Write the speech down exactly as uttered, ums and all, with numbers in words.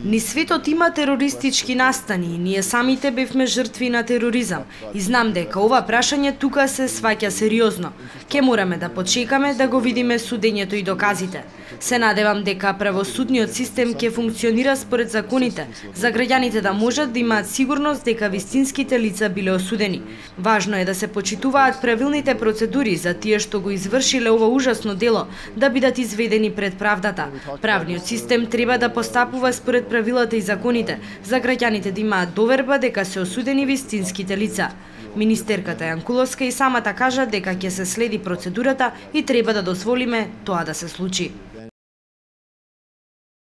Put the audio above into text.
Ни светот има терористички настани и ние самите бевме жртви на тероризам. И знам дека ова прашање тука се сваќа сериозно. Ке мораме да почекаме да го видиме судењето и доказите. Се надевам дека правосудниот систем ќе функционира според законите, за граѓаните да можат да имаат сигурност дека вистинските лица биле осудени. Важно е да се почитуваат правилните процедури за тие што го извршиле ова ужасно дело, да бидат изведени пред правдата. Правниот систем треба да постапува според правилата и законите, за граѓаните да имаат доверба дека се осудени вистинските лица. Министерката Јанкуловска и самата кажа дека ќе се следи процедурата и треба да дозволиме тоа да се случи.